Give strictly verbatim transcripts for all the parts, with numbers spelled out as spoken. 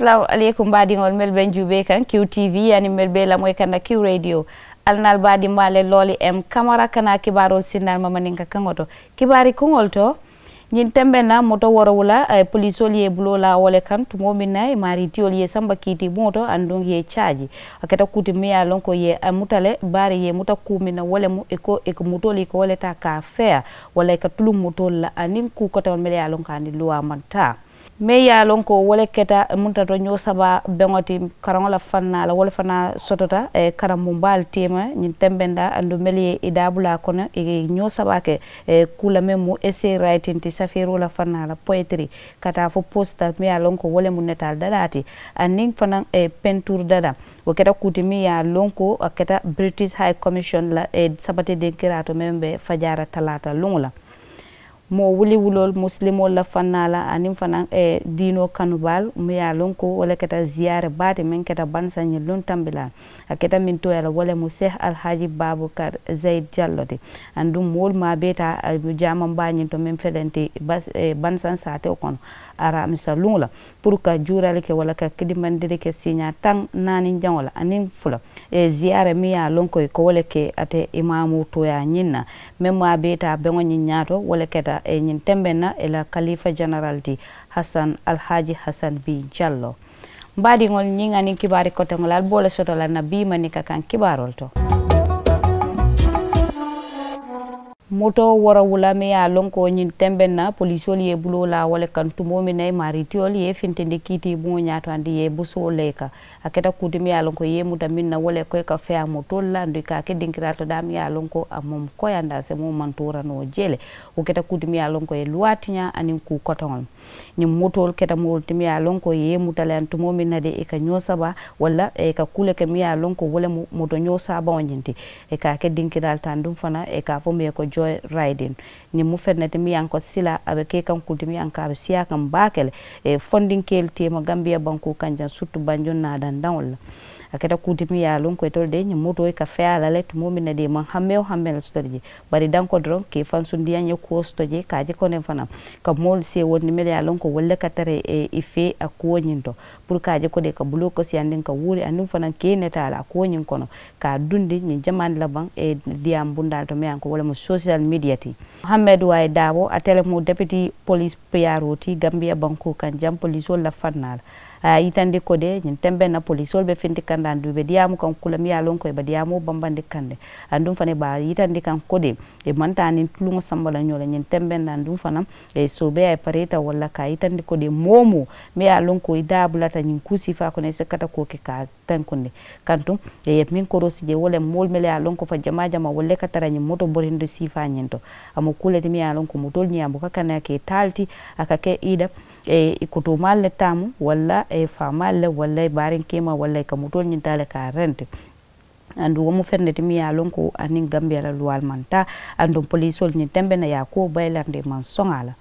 Salaamu aleykum baadiŋolu mennu be n juubee kaŋ kiw tv aniŋ mennu be i lamoyi kaŋ na kiw radio. Ali naalu baadiŋ maa le looli m kamara ka naa kibaaroolu sinnaali ma maninka kaŋo to. Kibaari kuŋolu to, ñiŋ tembeŋ na moto woorowula polisoolu ye i buloo laa wo le kaŋ tumoo meŋ na i maarii tiyolu ye i samba kiitiibuŋo to aduŋ i ye i caaji. A keta kuu ti meŋ ye a loŋ ko i ye a muta le, bari i ye i muta kuu meŋ na wo le mu i ko i ka motoolu i ka wo le taa ka a feeyaa, walla i ka tuluŋ motoolu la aniŋ kuu koteŋolu mennu ye a loŋ ko a niŋ luwaa maŋ taa. Meŋ ye a loŋ ko wo le keta munta to ñoo saba beŋo ti karaŋo la fannaa la wo le fanaa sotota karambuŋ baalu teema ñiŋ tembeŋ da aduŋ mennu ye i daabulaa kono i ye ñoo saba ke. Kuu la meŋ mu essay writing ti safeeroo la fannaa la poetry ka taa fo posita meŋ ye a loŋ ko wo le mu netaali dadaa ti aniŋ fanaŋ pentuuru dadaa. Wo keta kuu ti meŋ ye a loŋ ko a keta british high commission la sabati dinkiraa to meŋ be fajaara talaata luŋo la. Moo wuli wuloolu musilimoolu la fannaa la aniŋ fanaŋ diinoo kanubaalu meŋ ye a loŋ ko wo le keta ziyaare baa ti meŋ keta bansaŋ ñiŋ luŋ tambilaa. A keta meŋ tooyaa la wo le mu seehi alhaaji baabukar zayid jallo ti. Aduŋ moolu maa bee taa jaamaŋ baa ñiŋ to meŋ felenti bansaŋ saatewo kono aramisa luŋo la puru ka juurali ke walla ka kidimandiri ke siiñaa taŋ naani jaŋo la aniŋ fula. Ziyaara meŋ ye a loŋ ko i ka wo le ke ate imaamoo tooyaa ñiŋ na meŋ maa bee taa beŋo ñiŋ ñaato wo le keta ñiŋ tembeŋ na i la kaliifa jeneral ti hasan alhaaji hasan bii jalloo. Mbaadiŋolu ñiŋ aniŋ kibaari koteŋolu ali be wo le soto la na bii manika kaŋ kibaaroolu to. Moto woorowula meŋ ye a loŋ ko ñiŋ tembeŋ na polisoolu ye i buloo laa wo le kaŋ tumoo meŋ na i maarii tiyolu ye i fintindi kiitiibuŋo ñaato andi i ye i busoo le i kaŋ. A keta kuu ti meŋ ye a loŋ ko i ye i muta meŋ na wo le ko i ka feeyaa motoolu la aduŋ i ka a ke dinkiraalu to daa meŋ ye a loŋ ko a maŋ koyandi a se moo maŋ toora noo jee le. Wo keta kuu ti meŋ ye a loŋ ko i ye luwaa tiñaa aniŋ kuu kotoŋolu. Ñiŋ motoolu keta moolu ti meŋ ye a loŋ ko i ye i muta le aniŋ tumoo meŋ na de i ka ñoo saba walla i ka kuu le ke meŋ ye a loŋ ko wo le mu moto ñoo saabaŋo ñiŋ ti. I ka a ke dinkiraalu ti aduŋ fanaŋ i ka a fo meŋ ye ko joy riding. Ñiŋ mu feŋ ne ti meŋ ye a loŋ ko silaa a be ke kaŋ kuu ti meŋ ye a loŋ ko a be siyaa kaŋ baake le. Fondinkeelu teema gambiya bankoo kaŋ jaŋ siritu banjuŋ naa dandaŋolu la. A keta kuu ti meŋ ye a loŋ ko itolu de ñiŋ motoo i ka feeyaa la le tumoo meŋ na de i maŋ hammee wo hammee le soto le jee. Bari danko doroŋ ka i fansundiyaŋ ye kuwo soto jee ka a je kono fanaŋ ka moolu seewondi mennu ye a loŋ ko wolu le ka tara i fee a kuwo ñiŋ to. Puru ka a je ko de i ka buloo kosiyandiŋ ka wuuri aniŋ fanaŋ ka i netaa la a kuwo ñiŋ kono ka a dundi ñiŋ jamaani labaŋ diyaamu bundaalu to meŋ ye a loŋ ko wo le mu sosiyal midiya ti. Muhammed wayi daabo ate le mu depiti poliisi piyaaroo ti gambiya bankoo kaŋ jaŋ poliisoolu la fannaa la. A ye a yitandi ko de ñiŋ tembeŋ na poliisoolu be finti kandaalu duŋ i be diyaamu kaŋ kuu la meŋ ye a loŋ ko i be diyaamoo bambandi kaŋ ne. Aduŋ fanaŋ i be a yitandi kaŋ ko de i maŋ taa niŋ tuluŋo samba la ñoo la ñiŋ tembeŋ na aduŋ fanaŋ. Soobeeyaa i pareeta walla ka a yitandi ko de moo-wo-moo meŋ ye a loŋ ko i daa bulata ñiŋ kuu siifaa kono i si kata koo ke ka a tenkundi. Kantuŋ i ye meŋ koroosi jee wo le moolu mennu ye a loŋ ko fa jamaa jamaa wolu le ka tara ñiŋ moto borindi siifaa ñiŋ to. A mu kuu le ti meŋ ye a loŋ ko motoolu ñiŋ a buka kana ke taa le ti. A ka ke i da i kotoomaalu le taamu walla faamaalu le walla i baariŋ keemaa walla i ka motoolu ñiŋ taa le ka a renti. Aduŋ wo mu feŋ ne ti meŋ ye a loŋ ko aniŋ gambiya la luwaalu maŋ taa. Aduŋ poliisoolu ñiŋ tembe na i ye a kuwo bayilandi i maŋ soŋ a la.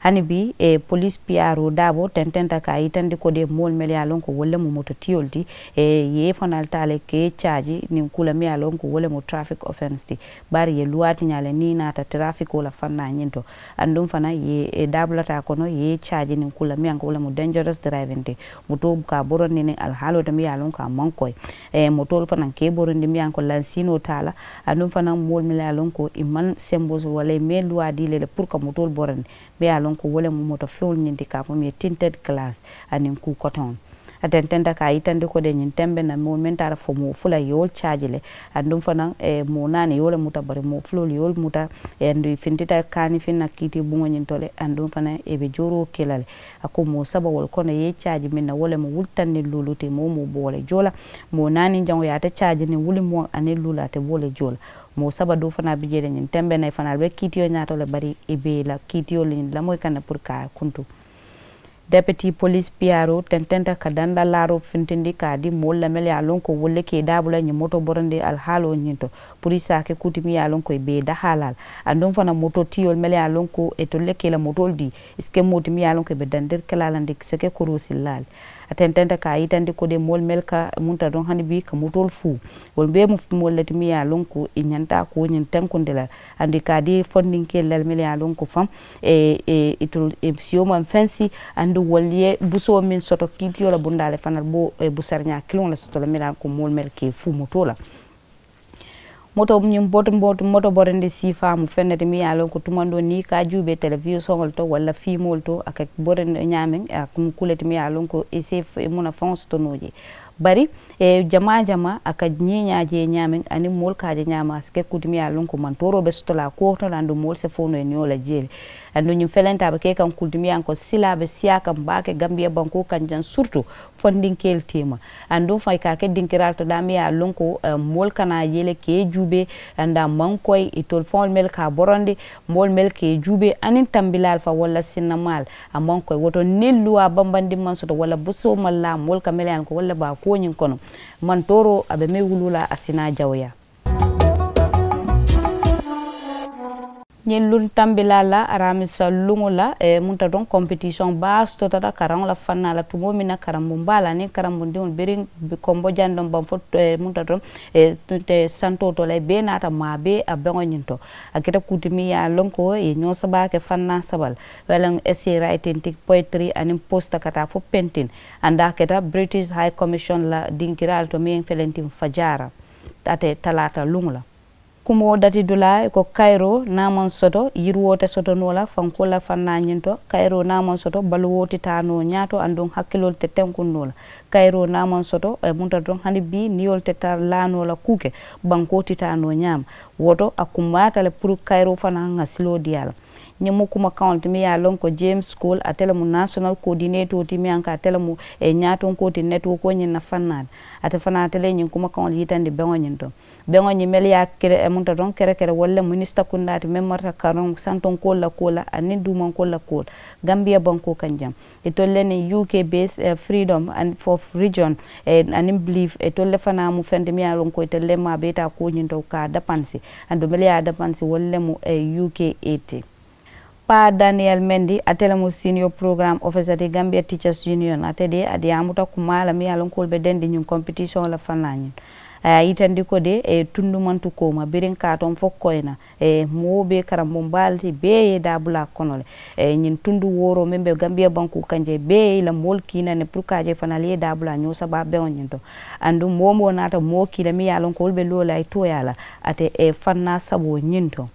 Hani bii poliisi piyaaroo daaboo tententa ka a yitandi ko de moolu mennu ye a loŋ ko wolu le mu moto tiyoolu ti. I ye i fanaalu taa le ka i caaji niŋ kuu la meŋ ye a loŋ ko wo le mu tarafik ofensi ti. Bari i ye luwaa ti ñaa le niŋ i naata tarafikoo la fannaa ñiŋ to. Aduŋ fanaŋ i ye i daabulata a kono i ye i caaji niŋ kuu la meŋ ye a loŋ ko wo le mu denjaros dirayibinti. Motoo buka a borondi niŋ alihaaloo ti meŋ ye a loŋ ko a maŋ koyi. Motoolu fanaŋ ka i borondi meŋ ye a loŋ ko lansiinoo te a la. Aduŋ fanaŋ moolu mennu ye a loŋ ko i maŋ semboo soto walla i maŋ i luwaa dii le le puru ka motoolu borondi. Meŋ ye a loŋ ko wo le mu moto feŋolu ñiŋ ti ka a fo meŋ ye tinted kalaasi aniŋ kuu kotoŋolu. A tententa ka a yitandi ko de ñiŋ tembe na moo meŋ taata fo moo fula i ye wolu caaji le. Aduŋ fanaŋ moo naani i ye wo le muta bari moo fuloolu i ye wolu muta. Aduŋ i fintita kaanifiŋ na kiitiibuŋo ñiŋ to le aduŋ fanaŋ i be jooroo ke la le. A ko moo saba wolu kono i ye i caaji meŋ na wo le mu wuli taŋ niŋ luulu ti moo woo moo be wo le joo la. Moo naani jaŋo ye ate caaji niŋ wuli moo aniŋ luulu ate be wo le joo la. Moo saba doo fanaa bi jee le ñiŋ tembe na i fanaa be kiitiyo ñaato le bari i be i la kiitiyo le ñiŋ lamoyi kaŋ ne puru ka a kuntu. Depiti poliisi piyaaroo tententa ka danda laaroo fintindi ka a dii moolu la mennu ye a loŋ ko wolu le ka i daabula ñiŋ moto borondi alihaaloo ñiŋ to. Puru i si a ke kuu ti meŋ ye a loŋ ko i be i dahaalaa la. Aduŋ fanaa moto tiyoolu mennu ye a loŋ ko itolu le ka i la motoolu dii i si ke moo ti meŋ ye a loŋ ko i be dandiri ke la a la ndi i si ke koroosillaa le. A tententa ka a yitandi ko de moolu melu ka munta doŋ hani bii ka motoolu fuu. Wolu bee mu moolu le ti miŋ ye a loŋ ko i ñanta a kuwo ñiŋ tenkundi la. Aduŋ i ka a dii fondinkeelu la le mennu ye a loŋ ko faŋ, itolu siyo maŋ fensi. Aduŋ wolu ye busoo meŋ soto kiitiyo la bundaa le fanaŋ bo busariñaa kiliŋo le soto la mennu ye a loŋ ko moolu melu ka i fuu motoo la. Moto ñiŋ boto boto moto borendi siifaa mu feŋ ne ti miŋ ye a loŋ ko tumandoo niŋ i ka a juubee telewisoŋolu to walla fiimoolu to a ka borendi ñaameŋ a mu kuu le ti miŋ ye a loŋ ko i si i munafaŋo soto noo jee. Bari jamaa jamaa a ka ñiiñaa jee ñaameŋ aniŋ moolu ka a je ñaameŋ a si ke kuu ti miŋ ye a loŋ ko mantooroo be soto la a kuwo to le aduŋ moolu si fo noo ye niyo la jee le. Aduŋ ñiŋ felenta a be ke kaŋ kuu ti miŋ ye a loŋ ko silaa be siyaa kaŋ baake gambiya bankoo kaŋ jaŋ siritu fondinkeelu teema. Aduŋ faŋ i ka a ke dinkiraalu to daameŋ ye a loŋ ko moolu kana a je le ka i juubee. Aduŋ a maŋ koyi itolu faŋolu mennu ka a borondi moolu mennu ka i juubee aniŋ tambilaalu faŋ walla sinnamaalu. A maŋ koyi wo to niŋ luwaa bambandiŋ maŋ soto walla busoo maŋ laa moolu ka mennu ye a loŋ ko walla be a kuwo ñiŋ kono. Mantooroo a be meŋ wuluu la a si naa jawuyaa. Ñiŋ luŋ tambilaa la aramisa luŋo la munta doŋ kompitisiyoŋ baa sotota karaŋo la fannaa la tumoo meŋ na karambuŋ baa la aniŋ karambuŋ diŋolu biriŋ. Kombo jandoŋ baŋ fo munta doŋ santoo to la i bee naata maa bee a beŋo ñiŋ to. A keta kuu ti miŋ ye a loŋ ko i ye ñoo saba ke fannaa saba le walla ŋ esi raytinti poyitiri aniŋ posita ka taa fo pentin. Aduŋ a keta british high commission la dinkiraa le to meŋ ye felentin fajaara. Ate talaata luŋo la. Kumoo dati dulaa i ko kayiroo niŋ a maŋ soto yiriwoo te soto noo la fankoolu la fannaa ñiŋ to. Kayiroo niŋ a maŋ soto baluwoo ti taa noo ñaato aduŋ hakkiloolu te tenkuŋ noo la. Kayiroo niŋ a maŋ soto munta doroŋ hani bii niyoolu te taa laa noo la kuu ke bankoo ti taa noo ñaama. Wo to a kummaata le puru kayiroo fanaa ŋa siloo dii a la. Ñiŋ mu kumakaŋo le ti miŋ ye a loŋ ko jemes kool ate le mu nasonal koodineetoo ti miŋ ye a loŋ ko ate le mu ñaatonkoo ti netiwokoo ñiŋ na fannaa ti. Ate fanaa ate le ye ñiŋ kumakaŋo le yitandi beŋo ñiŋ to. Beŋo ñiŋ melu ye a kere munta doroŋ kerekere walla le minisita kundaa ti meŋ marata karaŋ santonkoolu la kuwo la aniŋ duumankoolu la kuwo la. Gambiya bankoo kaŋ jaŋ itolu le niŋ uk base freedom and for region aniŋ belief itolu le fanaa mu feŋ ti miŋ ye a loŋ ko itolu le maa bee taa kuwo ñiŋ to ka a dapansi. Aduŋ melu ye a dapansi wolu le mu uk eighty. Paa daniyel mendi ate le mu senior program officer ti gambia teachers union ate de a diyaamuta kumaa la miŋ ye a loŋ ko wolu be dendi ñiŋ kompitisiyoŋo la fanaa ñiŋ. A ye a yitandi ko de tundumantu kooma biriŋ kaatoŋ fo koyina. Moo be karambuŋ baa le ti bee ye daabulaa kono le. Ñiŋ tundu wooroo meŋ be gambiya bankoo kaŋ je bee ye i la moolu kiina ne puru ka a je fanaa le ye daabulaa ñoo sabaa beŋo ñiŋ to. Aduŋ moo moo naata moo kiina miŋ ye a loŋ ko wolu be loo la i tooyaa la. Ate fannaa saboo ñiŋ to.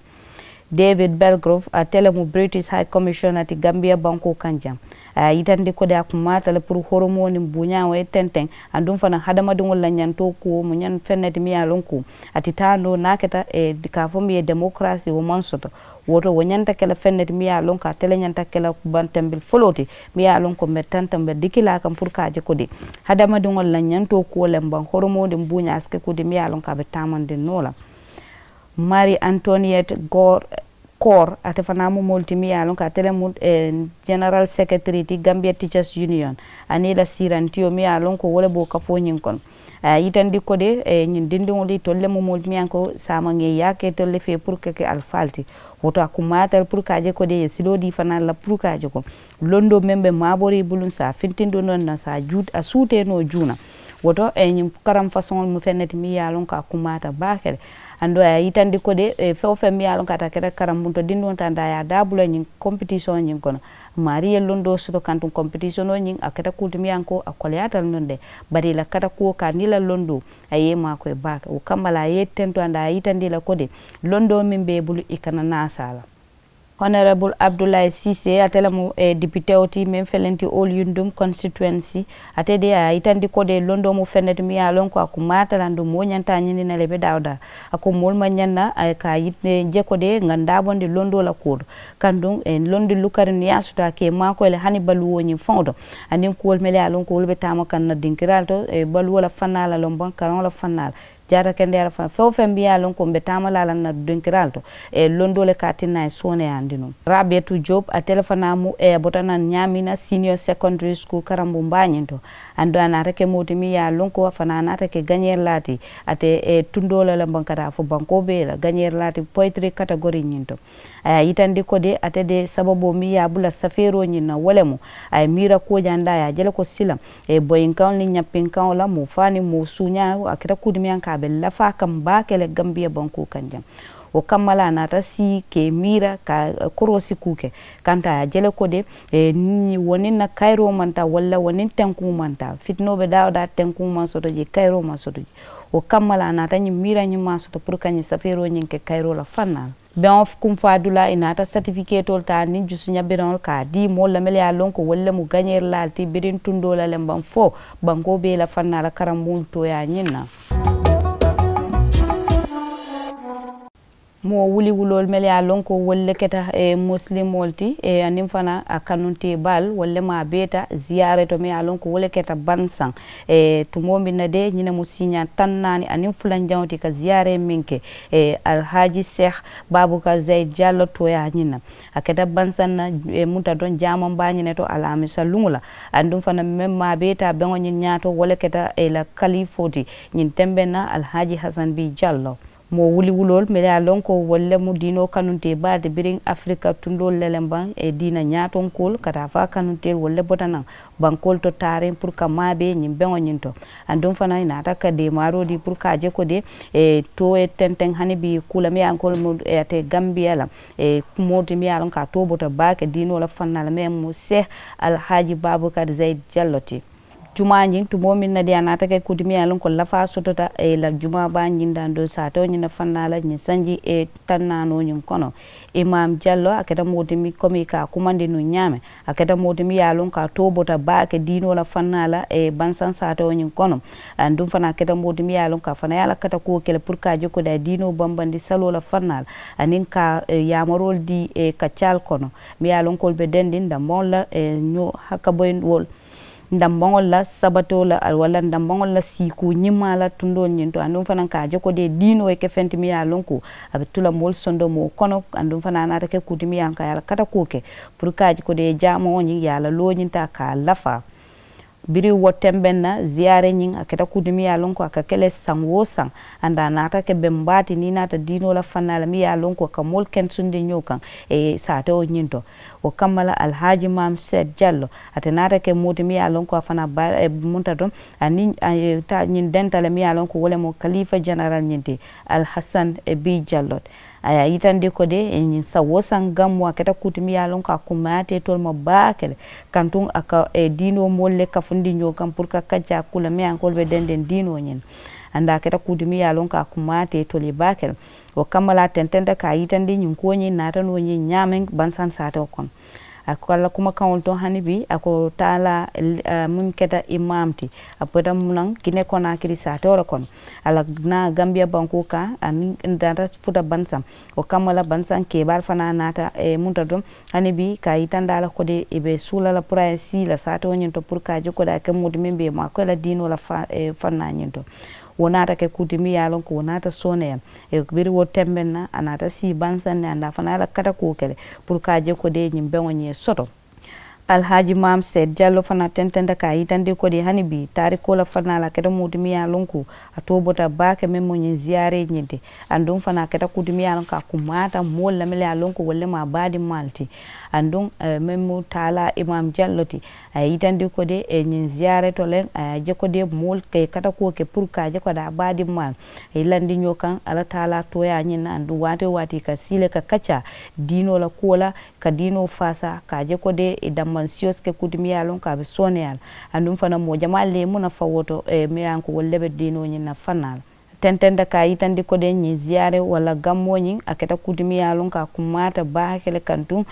David belgrove ate le mu british high commissioner ti gambiya bankoo kaŋ jaŋ. A ye a yitandi ko de a kumaata le puru horomoo niŋ buuñaa wo ye tenteŋ. Aduŋ fanaŋ hadamadiŋolu la ñantoo kuwo mu ñaŋ feŋ ne ti miŋ ye a loŋ ko a ti taa noo niŋ a keta ka a fo miŋ ye demokarasi wo maŋ soto. Wo to wo ñanta ke la feŋ ne ti miŋ ye a loŋ ko ate le ñanta ke la bantambil foloo ti miŋ ye a loŋ ko mbe tantaŋ mbe dikilaa kaŋ puru ka a je ko de hadamadiŋolu la ñantoo kuwo le mbaŋ horomoo niŋ buuñaa a si ke ko de miŋ ye a loŋ ko a be taamandiŋ noo la. Mari antoniyet goor koor ate fanaa mu moolu ti miŋ ye a loŋ ko ate le mu general secretary ti gambia teachers union. Aniŋ i la siirantiyo miŋ ye a loŋ ko wo le be wo kafoo ñiŋ kono. A ye a yitandi ko de ñiŋ dindiŋolu itolu le mu moolu ti miŋ ye a loŋ ko saamaŋ ye yaake itolu le fee puru ka ke alifaalu ti. Wo to a kummaata le puru ka a je ko de i ye siloo dii fanaa la puru ka a je ko londoo meŋ be maaborii buluŋ saa fintindoo noŋ na saa juut a suutee noo juuna. Wo to ñiŋ karaŋ fasoŋolu mu feŋ ne ti miŋ ye a loŋ ko a kummaata baake le. Andoo a ye a yitandi ko de feŋ wo feŋ miŋ ye a loŋ ko a te a keta karambuŋ to dindiŋo te a ye a daabula ñiŋ kompitisiyoŋo ñiŋ kono. Maarii ye londoo soto kantuŋ kompitisiyoŋo ñiŋ a keta kuu ti miŋ ye a loŋ ko a koleyaata le nuŋ de. Bari i la kata kuwo ka aniŋ i la londoo a ye i maakoyi baake wo kamma le a ye i tento andoo a ye a yitandi i la ko de londoo meŋ be i bulu i kana naasaa la. Honorable abdullahi sise ate le mu dipitewo ti meŋ felenti all yundum constituency. Ate de a ye a yitandi ko de londoo mu feŋ ne ti miŋ ye a loŋ ko a kummaata le aduŋ moo ñanta a ñini na le i be daawo daa. A ko moolu maŋ ñaŋ na ka a je ko de ŋa n daabondi londoo la kuwo to. Kaŋ duŋ londi lukariŋ niŋ i ye a soto a ka i maakoyi le hani baluwo ñiŋ faŋo to. Aniŋ kuwolu mele ye a loŋ ko wolu be taama kaŋ na dinkiraalu to baluwo la fannaa la loŋ baŋ karaŋo la fannaa la. jaata kendeyaa la fanaŋ feŋ-wo-feŋ mbe ye a loŋ ko mbe taama la a la na dinkiraalu to, e londoo le ka a tinna a ye sooneyaandi nuŋ. Raabiyatu job ate le fanaa mu e a bota naŋ ñaamiina senior secondary school karambuŋ baa ñiŋ to. Aduŋ a naata ke moo ti miŋ ye a loŋ ko a fanaa naata ke gañeeri laa ti. Ate e tundoo la le baŋ ka taa fo bankoo bee la gañeeri laa ti poyitiri kategori ñiŋ to. A ye a yitandi ko de ate de sababoo miŋ ye a bula safeeroo ñiŋ na wo le mu a ye miira kuwo jaŋ de a ye a je le ko silaŋ e boyinkaŋo niŋ ñappinkaŋo la moo faa niŋ moo suuñaa a keta kuu ti miŋ ye a loŋ ko a be lafaa kaŋ baake le gambiya bankoo kaŋ jaŋ. Wo kamma le a naata sii ka i miira ka koroosi kuu ke kanta a ye a je le ko de e wo niŋ na kayiroo maŋ taa walla wo niŋ tenkuŋo maŋ taa fitinoo be daa woo daa tenkuŋo maŋ soto jee kayiroo maŋ soto jee. Wo kamma le a naata ñiŋ miira ñiŋ maŋ a soto puru ka ñiŋ safeeroo ñiŋ ke kayiroo la fannaa la. Beŋo kunfaadulaa i naata satifiketoolu taa aniŋ jusuña bereŋolu ka a dii moolu la mennu ye a loŋ ko wolu le mu gañeerilaalu ti biriŋ tundoo la le mbaŋ fo bankoo bee la fannaa la karambuŋolu tooyaa ñiŋ na. Moo wuliwuloolu mennu ye a loŋ ko wolu le keta musilimoolu ti aniŋ fanaa a kanuntee baalu wolu le maa beeta ziyaaree to mennu ye a loŋ ko wo le keta bansaŋ. Tumoo miŋ na de ñiŋ ne mu siiñaa taŋ naani aniŋ fulanjaŋo ti ka ziyaaree meŋ ke alhaaji seex baabukar zayid jallo tooyaa ñiŋ na. A keta bansaŋ na munta doŋ jaamaŋ baa ñiŋ ne to alaamisa luŋo la. Aduŋ fanaa meŋ maa beeta beŋo ñiŋ ñaato wo le keta i la kaliifoo ti ñiŋ tembeŋ na alhaaji hasan bii jallo. Moo wuliwuloolu mennu ye a loŋ ko wolu le mu diinoo kanuntee baa ti biriŋ afirika tundoolu le le mbaŋ diina ñaatonkoolu ka taa fo a kanunteelu wolu le bota naŋ. Bankoolu to taariŋ puru ka maabee ñiŋ beŋo ñiŋ to. Aduŋ fanaa i naata ka deemaaroo dii puru ka a je ko de too ye tenteŋ hani bii kuu la mennu ye a loŋ ko le mu ate gambiya la. Kumoo ti mennu ye a loŋ ko a too bota baake diinoo la fannaa la mennu mu seex alhaaji baabukar zayid jallo ti. Jumaa ñiŋ tumoo meŋ na de a naata ke kuu ti meŋ ye a loŋ ko lafaa sotota i la jumaa baa ñiŋ daŋ doo saatewo ñiŋ na fannaa la ñiŋ sanji taŋ naanoo ñiŋ kono. Imaam jallo a keta moo ti meŋ komi ka a kumandi nuŋ ñaameŋ a keta moo ti meŋ ye a loŋ ko a too bota baake diinoo la fannaa la bansaŋ saatewo ñiŋ kono. Aduŋ fanaa a keta moo ti meŋ ye a loŋ ko a fanaa ye a la katakuwo ke le puru ka a je ko de a ye diinoo bambandi saloo la fannaa la aniŋ ka yaamaroolu dii kaccaalu kono. Meŋ ye a loŋ ko wolu be dendiŋ dambaŋolu la ñoo hakkaboyindiwoolu. Ndambaŋolu la sabatoo la walla ndambaŋolu la siikuu ñimaa la tundoolu ñiŋ to aduŋ fanaa ka a je ko de diinoo ye ke feŋ ti meŋ ye a loŋ ko a be tu la moolu sondomoo kono. Aduŋ fanaa a naata ke kuu ti meŋ ye a loŋ ko a ye a la katakuwo ke puru ka a je ko de jaamaŋo ñiŋ ye a la loo ñiŋ taa ka a lafaa. Biriŋ wo tembeŋ na ziyaaree ñiŋ a keta kuu ti meŋ ye a loŋ ko a ka ke le saŋ woo saŋ. Aduŋ a naata ke beŋ baa ti niŋ i naata diinoo la fannaa la meŋ ye a loŋ ko ka moolu kensundi ñoo kaŋ saatewo ñiŋ to. Wo kamma la alhaaji maam seet jallo ate naata ke moo ti meŋ ye a loŋ ko a fanaa baa munta to aniŋ a ye taa ñiŋ denta le meŋ ye a loŋ ko wo le mu kaliifa jeneral ñiŋ ti alhasan bii jallo ti. A ye a yitandi ko de ñiŋ saŋ woo saŋ gammoo a keta kuu ti meŋ ye a loŋ ko a kummayaata itolu ma baake le. Kantuŋ a ka diinoo moolu le kafundi ñoo kaŋ puru ka kaccaa kuu la meŋ ye a loŋ ko wolu be dendeŋ diinoo ñiŋ na. Aduŋ a keta kuu ti meŋ ye a loŋ ko a kummayaata itolu ye baake le. Wo kamma le a tententa ka a yitandi ñiŋ kuwo ñiŋ naata noo ñiŋ ñaameŋ bansaŋ saatewo kono. A ko a la kumakaŋolu to hani bii a ko taalaa muŋ keta imaamu ti a bota munaŋ kine konaakiri saatewo le kono. A la naa gambiya bankoo kaŋ aniŋ naata futa bansaŋ. Wo kamma la bansaŋ keebaalu fanaa naata munta to hani bii ka a yitandi a la ko de i be suula la puru a ye sii la saatewo ñiŋ to puru ka a je ko de a ke moo ti meŋ be i maakoyi la diinoo la fannaa ñiŋ to. Wo naata ke kuu ti meŋ ye a loŋ ko wo naata sooneeyaa. Biriŋ wo tembeŋ na a naata sii bansaŋ ne aduŋ a fanaa ye a la katakuwo ke le puru ka a je ko de ñiŋ beŋo ñiŋ ye soto. Alhaaji maam seed jallo fanaa tententa ka a yitandi ko de hani bii taarikoo la fannaa la a keta moo ti meŋ ye a loŋ ko a too bota baake meŋ mu ñiŋ ziyaaree ñiŋ ti. Aduŋ fanaa a keta kuu ti meŋ ye a loŋ ko a kummaata moolu la mennu ye a loŋ ko wolu le mu a baadiŋ maalu ti. Aduŋ meŋ mu taalaa imaam jallo ti. A ye yitandi ko de ñiŋ ziyaaree to le a ye a je ko de moolu ka i katakuwo ke puru ka a je ko de a baadiŋ maalu. A ye i landi ñoo kaŋ alla taalaa tooyaa ñiŋ na aduŋ waati woo waati i ka sii le ka kaccaa diinoo la kuwo la. Ka diinoo faasaa ka a je ko de i dammaŋ siyo si ke kuu ti meŋ ye a loŋ ko a be sooneeyaa la. Aduŋ fanaa moo jamaalu le ye muŋ nafa wo to meŋ ye a loŋ ko wolu le be diinoo ñiŋ na fannaa la. Tententa ka a yitandi ko de ñiŋ ziyaaree walla gammoo ñiŋ a keta kuu ti meŋ ye a loŋ ko a kummaata baake le kaŋ tuŋ.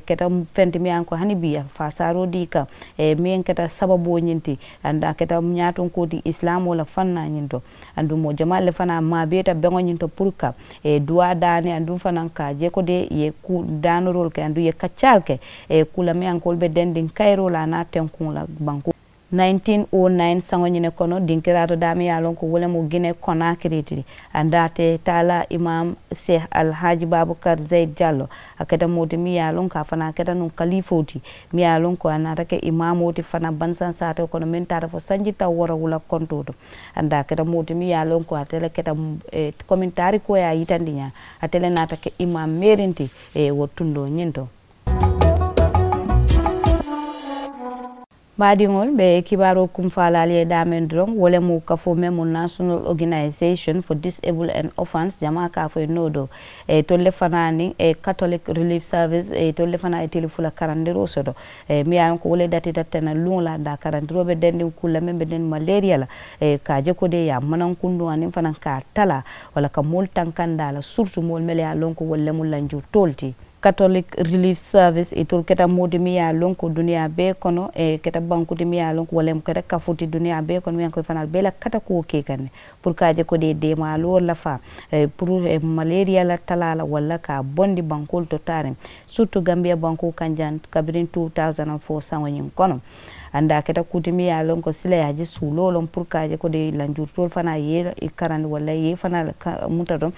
Keta feŋ ti meŋ ye a loŋ ko hani bii a faasaaroo dii kaŋ meŋ keta sababoo ñiŋ ti. Aduŋ a keta ñaatonkoo ti isilaamoo la fannaa ñiŋ to. Aduŋ moo jamaalu le fanaa maabeeta beŋo ñiŋ to puru ka duwaa daani aduŋ fanaa ka a je ko de i ye kuu daanoroolu ke aduŋ i ye kaccaalu ke. Kuu la meŋ ye a loŋ ko wolu be dendiŋ kayiroo la a naa tenkuŋo la bankoo. Nineteen o nine saŋo ñiŋ ne kono dinkiraato daameŋ ye a loŋ ko wo le mu gine konakiri ti. Andaa te taala imam sheikh alhaji babukar zayid jallo a keta moo ti meŋ ye a loŋ ko a fanaa keta nuŋ kaliifoo ti meŋ ye a loŋ ko a naata ke imaamoo ti fanaa bansaŋ saatoo kono meŋ taata fo sanji taŋ wooro wula kontoo to. Andaa a keta moo ti meŋ ye a loŋ ko ate le keta komiŋ taarikoo ye a yitandi ñaa ate le naata ke imam meeriŋ ti. Wo tundoo ñiŋ to. Baadiŋolu be kibaaroo kumfaalaalu ye daameŋ doroŋ wo le mu kafoo meŋ mu national organization for disable and orphans jamaa ka a fo ye noo doo. Itolu le fanaa niŋ catholic relief service itolu le fanaa ye tili fula karandiroo soto. Meŋ ye a loŋ ko wo le datita tena luŋo la daa karandiroo be dendiŋ kuu la meŋ be dendiŋ maleeriya la. Ka a je ko de ye a manankunduŋ aniŋ fanaŋ ka a talaa walla ka moolu tankandaa la surutu moolu melu ye a loŋ ko wolu le mu lanjuritoolu ti. Catholic relief service itolu keta moo ti meŋ ye a loŋ ko duniyaa bee kono keta banku ti meŋ ye a loŋ ko walla mu keta kafoo ti duniyaa bee kono meŋ ye a loŋ ko i fanaa bee la katakuwo ke i kaŋ ne. Puru ka a je ko de ye deemaaloo lafaa puru maleeriya la talaa la walla ka a bondi bankoolu to taariŋ. Siritu gambiya bankoo kaŋ jaŋ kabiriŋ two thousand and four saŋo ñiŋ kono. Andaa a keta kuu ti meŋ ye a loŋ ko sila ye a je suuloo loŋ puru ka a je ko de lanjuritoolu fanaa ye i karandi walla ye i fanaa le ka munta to.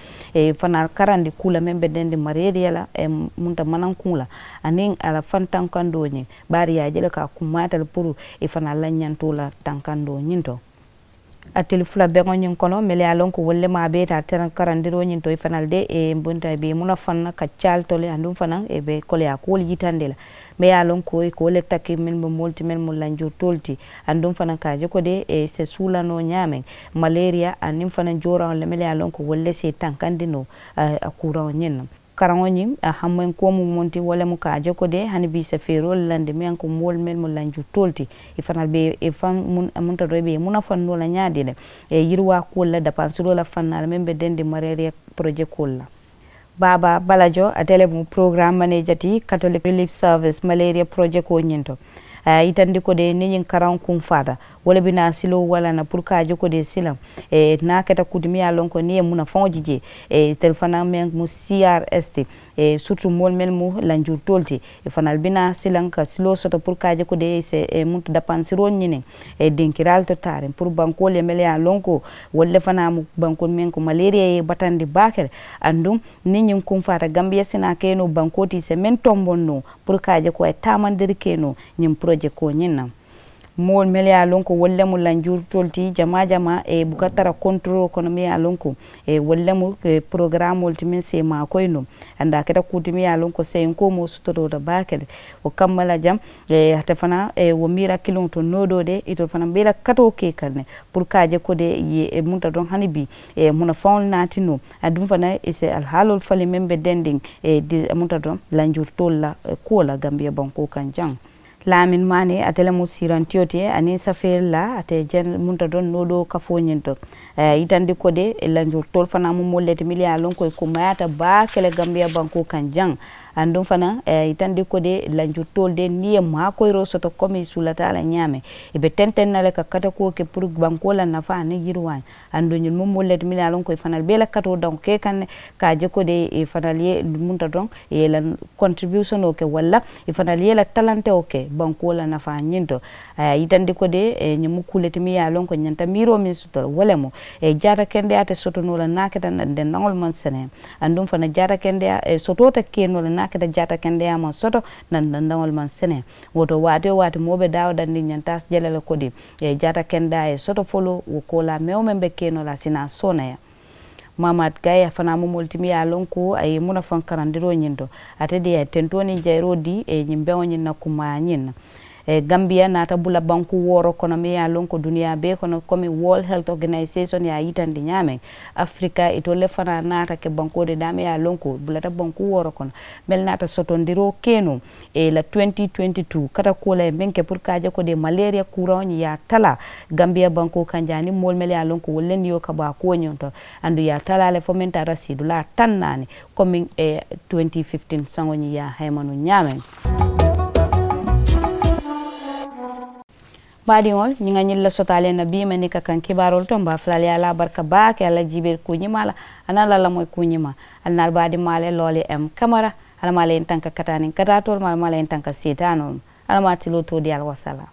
Fanaa karandi kuu la meŋ be dendiŋ maleeriya la munta manankuŋo la aniŋ a la fantankandoo ñiŋ. Bari ye a je le ko a kummaata le puru i fanaa la ñantoo la tankandoo ñiŋ to. A tili fula beŋo ñiŋ kono melu ye a loŋ ko wolu le maa bee taa tera karandiroo ñiŋ to i fanaa le de i bunta i be i muna faŋ na ka caali to le aduŋ fanaŋ i be koleyaa kuwolu yitandi la. Meŋ ye a loŋ ko i ka wo le taki mennu be moolu ti mennu mu lanjuritoolu ti. Aduŋ fanaŋ ka a je ko de i se suulanoo ñaameŋ maleeriya aniŋ fanaŋ jooraŋo le melu ye a loŋ ko wolu le si i tankandi noo a kuuraŋo ñiŋ na. Karaŋo ñiŋ a hammaŋ kuwo mu munti wo le mu ka a je ko de hani bii i se feeroo le landi meŋ ko moolu mennu mu lanjuritoolu ti. I fanaa be i faŋ munta doo i be i muna faŋ noo la ñaadii le. Yiriwaa kuwolu la dapansiroo la faŋ naa la meŋ be dendiŋ maleeriya porojekoolu la. Baaba balajo ate le mu porogaraamu maneeja ti katolik relief service maleeriya porojekoo ñiŋ to. A ye a yitandi ko de niŋ ñiŋ karaŋo kuŋ faata wo le bi naa siloo walla na puru ka a je ko de silaŋ. Niŋ a keta kuu ti meŋ ye a loŋ ko niŋ i ye munafaŋo je jee itelu fanaa meŋ mu crs ti. Siritu moolu mennu mu lanjuritoolu ti i fanaa le bi naa silaŋ ka siloo soto puru ka a je ko de i se munta dapansiroo ñiniŋ dinkiraalu to taariŋ puru bankoolu ye mennu ye a loŋ ko wolu le fanaa mu bankoolu meŋ ko maleeriya ye i batandi baake le. Aduŋ niŋ ñiŋ kuŋ faata gambiya si naa ke noo bankoo ti i se meŋ tomboŋ noo puru ka a je ko a ye taamandiri ke noo ñiŋ porojekoo ñiŋ na. Moolu mennu ye a loŋ ko wolu le mu lanjuritoolu ti jamaa jamaa buka tara kontoroo kono meŋ ye a loŋ ko wolu le mu porogaraamoolu ti meŋ si i maakoyi noo. Andaa a keta kuu ti meŋ ye a loŋ ko seyinkoo moo sototoota baake le. Wo kamma la jaŋ ate fanaa wo miira kiliŋo to noo doo de itolu fanaa be i la katoo ke i kaŋ ne. Puru ka a je ko de i ye i munta doroŋ hani bii i ye munafaŋolu naati noo. Aduŋ fanaa i si alihaaloolu faliŋ meŋ be dendiŋ i ye di i munta doroŋ lanjuritoolu la kuwo la gambiya bankoo kaŋ jaŋ. Laamin maani ate le mu siirantiyo ti aniŋ safeeri la ate ye jaŋ munta doroŋ noo doo kafoo ñiŋ to. A ye a yitandi ko de lanjuritoolu fanaa mu moolu le ti mennu ye a loŋ ko i kummayaata baake le gambiya bankoo kaŋ jaŋ. Aduŋ fanaa a ye a yitandi ko de lanjuritoolu de niŋ i ye maakoyiroo soto komi i suulata a la ñaameŋ i be tenteŋ na le ka katakuwo ke puru bankoo la nafaa aniŋ yiriwaañi. Aduŋ ñiŋ mu moolu le ti mennu ye a loŋ ko i fanaa le be i la katoo daŋo ke i kaŋ ne ka a je ko de i fanaa le ye munta doroŋ i ye i la kontiribiyusonoo ke walla i fanaa le ye i la talantewo ke bankoo la nafaa ñiŋ to. A ye a yitandi ko de ñiŋ mu kuu le ti meŋ ye a loŋ ko ñanta miiroo meŋ soto la wo le mu jaata kendeyaa te soto noo la niŋ a keta dendaŋolu maŋ seneyaa. Aduŋ fanaa jaata kendeyaa sotoo te ke noo la niŋ a keta jaata kendeyaa maŋ soto naŋ dendaŋolu maŋ seneyaa. Wo to waati wo waati moo be daawo dandiŋ ñanta a si je la le ko de jaata kendeyaa ye soto foloo wo koolaa meŋ wo meŋ be ke noo la a si naa sooneeyaa. Maamaati kayi a fanaa mu moolu ti meŋ ye a loŋ ko a ye i munafaŋ karandiroo ñiŋ to. Ate de a ye tentoo niŋ jayiroo dii ñiŋ beŋo ñiŋ na kumaayaa ñiŋ na. Gambiya naata bula bankuu wooro kono meŋ ye a loŋ ko duniyaa bee kono komi world health organisation ye a yitandi ñaameŋ. Afirika itolu le fanaa naata ke bankoo de daameŋ ye a loŋ ko bulata bankuu wooro kono. Mennu naata sotondiroo ke noo i la twenty twenty two kata kuwo la ye meŋ ke puru ka a je ko de maleeriya kuuraŋo ñiŋ ye a talaa. Gambiya bankoo kaŋ jaŋ aniŋ moolu mennu ye a loŋ ko wolu le niyo ka bo a kuwo ñiŋ to. Aduŋ i ye a talaa le fo meŋ taata siidulaa taŋ naani komiŋ twenty fifteen saŋo ñiŋ ye a hayamanu ñaameŋ. Baadiŋolu ñiŋ ŋa ñiŋ le soto ali ye na bii meŋ ni ka kaŋ kibaaroolu to mbe a fula ali ye a la barika baake ali la jiibeeri kuu ñimaa la. Aniŋ ali la lamoyi kuu ñimaa ali naa ali baadiŋ maa le looli m kamara. Alla maa le ye n tanka kataaniŋ kataatoolu maa alla maa le ye n tanka seetaanoolu maa alla maa tiloo too dii ali wasalaam.